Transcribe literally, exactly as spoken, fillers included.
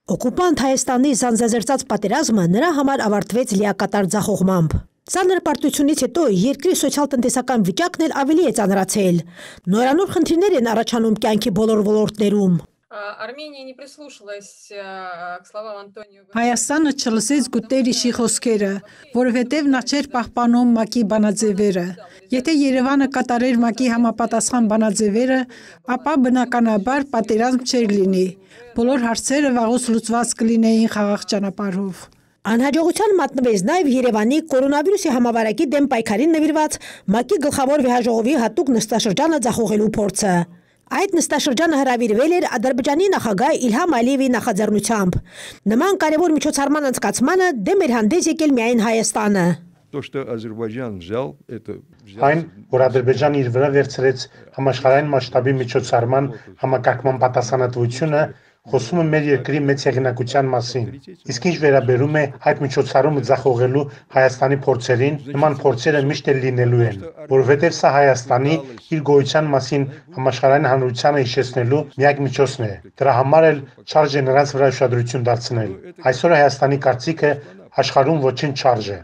Օկուպանտ Հայաստանի զանզազերծած պատերազմը նրա համար ավարտվեց լիակատար ձախողմամբ։ Ծանր պարտությունից հետո երկրի սոցիալ-տնտեսական վիճակն էլ ավելի է ծանրացել։ Նորանոր խնդիրներ են առաջանում կյանքի բոլոր ոլորտներում։ Հայաստանը չլսեց Գուտերիշի խոսքերը, որովհետև նա չէր պահպանում ՄԱԿ-ի բանաձևերը։ Եթե Երևանը կատարեր ՄԱԿ-ի համապատասխան բանաձևերը, ապա բնականաբար պատերազմ չէր լինի։ Բոլոր հարցերը վաղուց լուծված կլինեին խաղաղ ճանապարհով։ Անհաջողության մատնվեց նաև Երևանի կորոնավիրուսի համավարակի դեմ պայքարին նվիրված ՄԱԿ-ի գլխավոր վեհաժողովի հատուկ նստաշրջանը ձախողելու փորձը։ Այդ նստաշրջանը հրավիրվել էր Ադրբեջանի նախագահ Իլհամ Ալիևի նախաձեռնությամբ։ Նման կարևոր միջոցառման անցկացմանը դեմ էր հանդես եկել միայն Հայաստանը։ Այն, որ Ադրբեջանը իր վրա վերցրեց համաշխարհային մասշտաբի միջոցառման համակարգման պատասխանատվությունը, խոսում է մեր երկրի մեծ հեղինակության մասին։ Իսկ ինչ վերաբերում է այդ միջոցառումը ձախողելու Հայաստանի փորձերին, նման փորձերը միշտ էլ լինելու են, որովհետև սա Հայաստանի իր գոյության մասին համաշխարհային հանրությանը հիշեցնելու միակ միջոցն է։ Դրա համար էլ չարժ է նրանց վրա ուշադրություն դարձնել։ Այսօր Հայաստանի կարծիքը աշխարհում ոչինչ չարժ է։